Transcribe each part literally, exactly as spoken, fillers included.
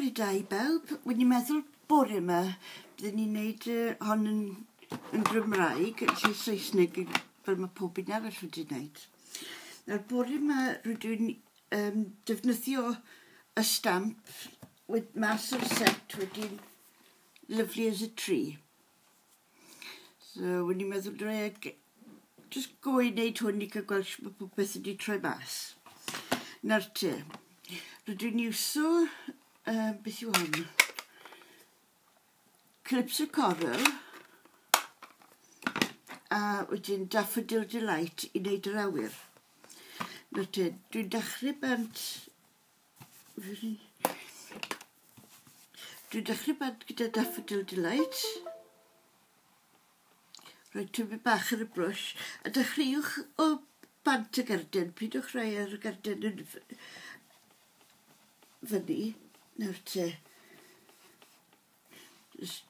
Bore da i bawb. Wedi meddwl bore yma byddwn ni'n neud uh, hon yn, yn Gymraeg, yn lle Saesneg fel mae pob un arall wedi wneud. Nawr bore yma rydw i'n um, defnyddio y stamp wed, mas o'r set wedi'n Lovely as a Tree. So wedi meddwl drwy just go i wneud hwn i cael gweld sut mae popeth wedi troi mas. Nawr te, rydw i'n iwso, uh, beth yw hwn? Calypso Coral a wedyn Daffodil Delight i wneud yr awyr. Nawr te, dwi'n dechrau bant... Dwi'n dechrau bant gyda Daffodil Delight. Rhoi tipyn bach ar y brwsh a dechreuwch o bant y garden, pidwch rhoi ar y garden yn fyny. Nawr te, just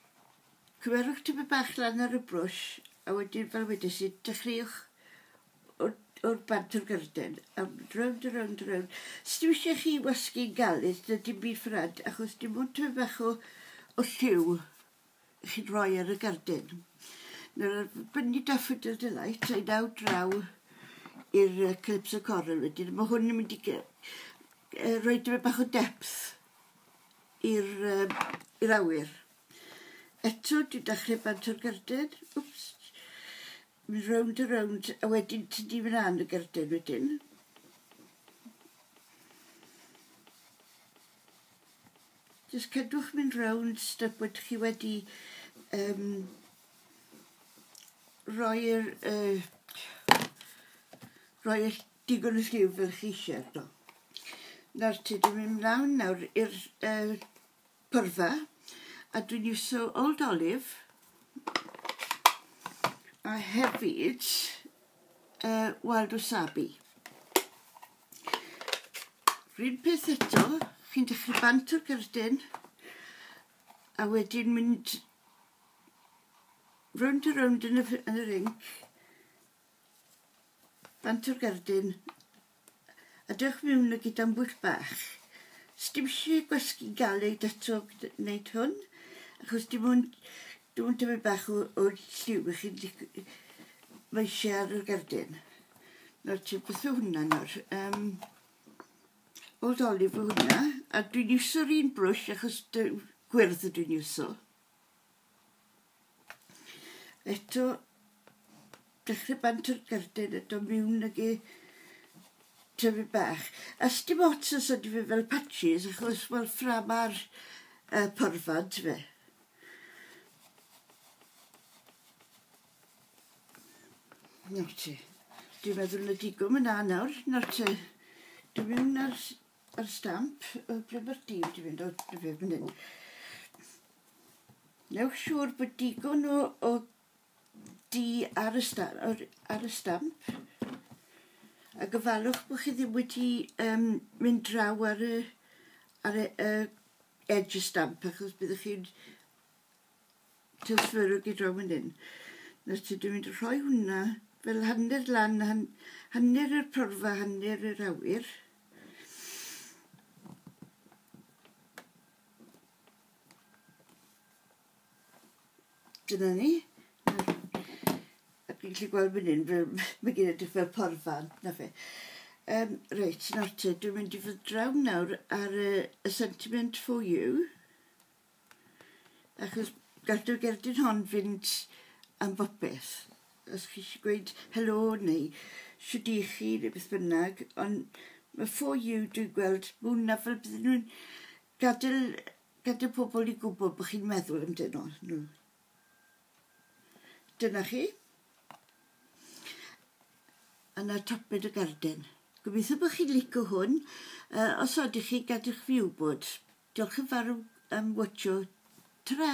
cymerwch tipyn bach lan ar y brwsh a wedyn fel wedes i, dechreuwch o'r, o'r bant o'r garden a rownd a rownd a rownd. Sdim eisiau chi wasgu'n galed na dim byd ffrad, achos dim ond tipyn bach o, o lliw chi'n rhoi ar y garden. Nawr, bynnu Daffodil Delight, a'i naw draw i'r uh, Calypso Coral wedyn. Mae hwn yn mynd i uh, rhoi tipyn bach o depth i'r uh, i'r awyr. Eto, dwi'n dechrau bant o'r garden. Wps. Mynd rownd a rownd, a wedyn tynnu mlaen y garden wedyn. Just cadwch mynd rownd step bod chi wedi um, roi'r uh, roi'r digon o lliw fel chi eisiau arno. Nawr te, dwi'n mynd mlaen nawr i'r uh, pyrfa a dwi'n iwso Old Olive a hefyd uh, Wild Wasabi. R'un peth eto, chi'n dechrau bant o'r gerdyn a wedyn mynd rownd a rownd yn y, yn yr inc, bant o'r gerdyn, a dewch mewn ag gyda'n bwyll bach. Sdim eisiau gwasgu galed eto wneud hwn, achos dim ond, dim ond tipyn bach o, o lliw i chi'n mae eisiau ar y gerdyn. Nawr te, beth yw hwnna nawr? Um, Old Olive yw hwnna, a dwi'n iwso'r un brwsh achos gwyrdd ydw i'n iwso. Eto, dechrau bant o'r gerdyn a dod mewn ag e tyfu bach. A sdim ots os ydy fe fel patches, achos wel ffram ar uh, porfa, fe. Nawr te, dwi'n meddwl na digon yna nawr. Nawr te, dwi'n mynd ar, ar stamp, o ble mae'r dîm dwi'n mynd o, dwi'n fe fan hyn. Newch siŵr bod digon o, o di ar y, sta, ar, ar y stamp. A gofalwch bod chi ddim wedi um, mynd draw ar y, ar y uh, edge y stamp, achos byddwch chi'n transferio gyd draw fan hyn. Nawr te, dwi'n mynd i rhoi hwnna fel hanner lan, han, hanner yr porfa, hanner yr awyr. Dyna ni. A dwi'n gallu gweld fan hyn, fel, mae gen i edrych fel porfa, na fe. Um, reit, nawr te, dwi'n mynd i fod draw nawr ar y, y Sentiment for You, achos gall y gerdyn hon fynd am bopeth. Os chi eisiau gweud helo neu shwd i chi neu beth bynnag, ond mae for you dwi'n gweld, mae hwnna fel bydden nhw'n gadael, gadael pobl i gwybod bod chi'n meddwl amdano nhw. Dyna chi. A na toped y garden. Gobeithio bod chi'n licio hwn. Uh, os ydych chi, gadewch fi wybod. Diolch yn fawr am watcho. Ta-ra!